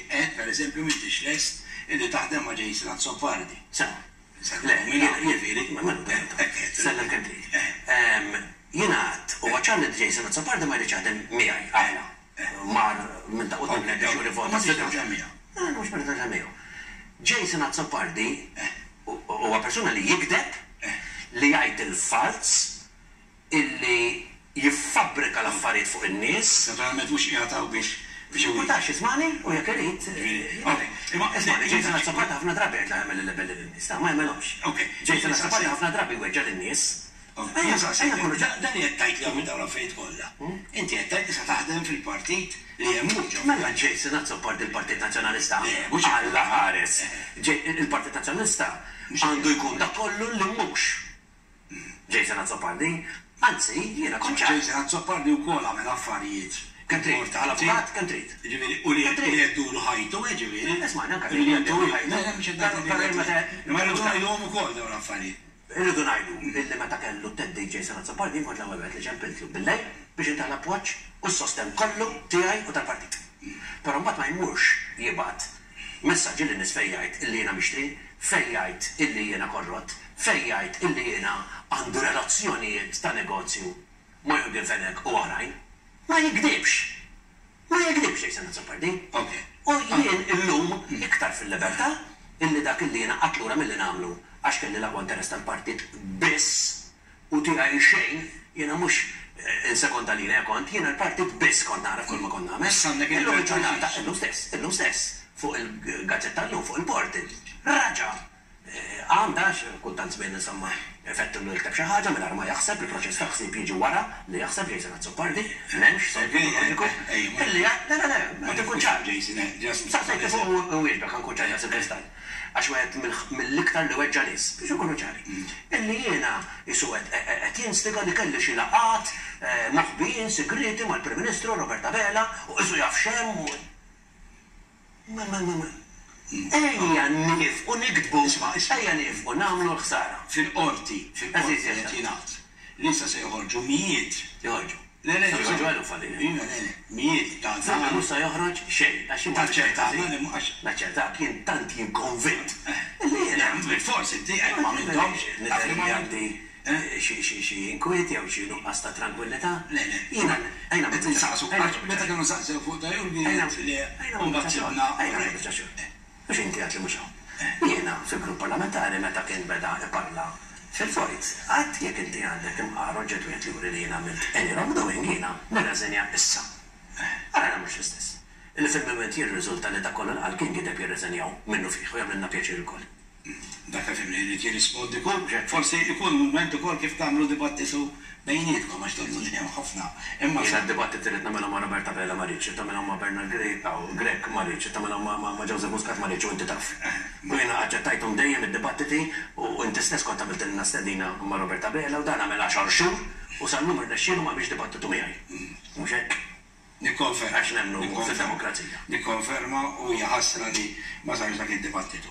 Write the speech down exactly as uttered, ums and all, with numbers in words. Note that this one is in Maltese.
Qed, pereżempju, m'intix lest illi taħdem ma' Jason Azzopardi. Sewa. Le, jiġifieri, sellem kemm trid. Jiena għedt, huwa ċar li Jason Azzopardi ma jridx jaħdem miegħi, għala. Mar minn ta' quddiem biex juri vot. Ma tridx taħdem miegħu. Mhux ma rridx miegħu. Jason Azzopardi huwa persuna li jigdeb, li jgħid il-falz, illi jiffabbrika l-affarijiet fuq in-nies. Naturalment mhux qiegħed hawn biex biex Mhux ismani u jekk irid. Ismani, Jason Azzopardi ħafna drabi qed jagħmel il-libelli lin-nies, ma jagħmelhomx. Jason Azzopardi ħafna drabi weġġa' lin-nies. Dan li qed tgħid li għamil dawn l-affarijiet kollha. Inti qed tgħid li se taħdem fil-partit li hemm hu. Mela Jason Azzopardi il-Partit Nazzjonalista. Alla ħares. Il-Partit Nazzjonalista għandu jkun dak kollu li mhux Jason Azzopardi. Anzi, jiena kont ċar. Jason Azzopardi wkoll għamel affarijiet. Kemm trid, għal-avukat, kemm trid. Ġifieri, u li jeddulu ħajtu, ġifieri. Isma', anke li jeddulu ħajtu. Ma rridu ngħiduhom ukoll dawn l-affarijiet. Irridu ngħidu illi meta kellu theddid Jason Azzopardi, jien kont l-ewwel wieħed li ċempiltlu billejl biex intih l-appoġġ u s-sostenn kollu tiegħi u tal-partit. Però mbagħad ma jmurx jibgħat messaġġi lin-nies fejn jgħid illi jiena mixtri, fejn jgħid illi jiena korrott, fejn jgħid illi jiena għandu relazzjonijiet ta' negozju ma' Yorgen Fenech u oħrajn. Ma jikdibx. Ma jikdibx Jason Azzopardi. U jien illum iktar fil-libertà illi dak illi jiena qgħadt lura milli nagħmlu għax kelli l-aqwa interess tal-partit biss u tiegħi xejn, jiena mhux in sekonda linea kont, jiena l-partit biss kont nara kull ma kont nagħmel. Illum il-ġurnata, illum stess, illum stess, fuq il-gazzetta llum, fuq il-portal. Raġa' għamda, kultant żmien insomma, effettu li jikteb xi ħaġa mingħajr ma jaħseb, il-proċess ta' ħsieb jiġi wara li jaħseb Jason Azzopardi, m'hemmx soltu loġiku. Illi le, le, le, ma tkun ċar. Saqsejt fuq u wieġbek nkun ċar daqs il-kristall. Għax wieħed mill-iktar li weġġa' nies, biex ikunu ċari. Illi jiena jisu qed jinstiga li kelli xi laqgħat moħbijin segreti mal-Prim Ministru Robert Abela u qisu jaf x'hemm u Ma ma ma ma. Ejja nieqfu niktbu, ejja nieqfu nagħmlu l-ħsara. Fil-qorti, fil-qorti qed jingħad li issa se joħorġu mijiet. Joħorġu. Le, le, Joħorġu eluf għalina. Le, le, mijiet ta' Mhux se joħroġ xejn, għax Taċċertana li mhux. Naċċertak, jien tant jien konvint. Li jiena. Forsi inti qed ma m'intomx. Nidher li għandi xi inkwiet jew xi nuqqas ta' tranquillità. Le, le. Jiena ejna Qed insaqsu, meta kienu saqsew fuq ta' Yorgen, li mbagħad sibna. Ejna biċċa xogħol. Mhux inti għedt li mhux hawn. Jiena fil-grupp parlamentari meta kien beda iparla fil-vojt, għedt jekk inti għandek imqar oġġett wieħed li juri li jiena għamilt any wrongdoing, jiena nirreżenja issa. Ara mhux l-istess. Illi fil-moment jirriżulta li dak kollu l-qal kien gideb, jirreżenjaw minnu fih u jagħmlilna pjaċir ukoll. Dak fimni li jirrispondi kull, forsi ikun mument ukoll kif tagħmlu dibattitu bejnietkom għax tonnu li hemm ħafna. Imma jiena d-dibattiti li nagħmelhom ma' Robert Abela ma rridx, tagħmelhom ma' Bernard Grech, Grech ma rridx, tagħmelhom ma' Joseph Muscat ma rridx u inti taf. U jiena aċċettajthom dejjem id-dibattiti u inti stess kont għamiltilna stedina ma' Robert Abela u dan għamel għaxar xhur u sal-lum irnexxielu ma biex dibattitu miegħi. Mhux hekk? Nikkonferma. Għax nemmnu fid-demokrazija. Nikkonferma u hija ħasra li ma sarx dak id-dibattitu.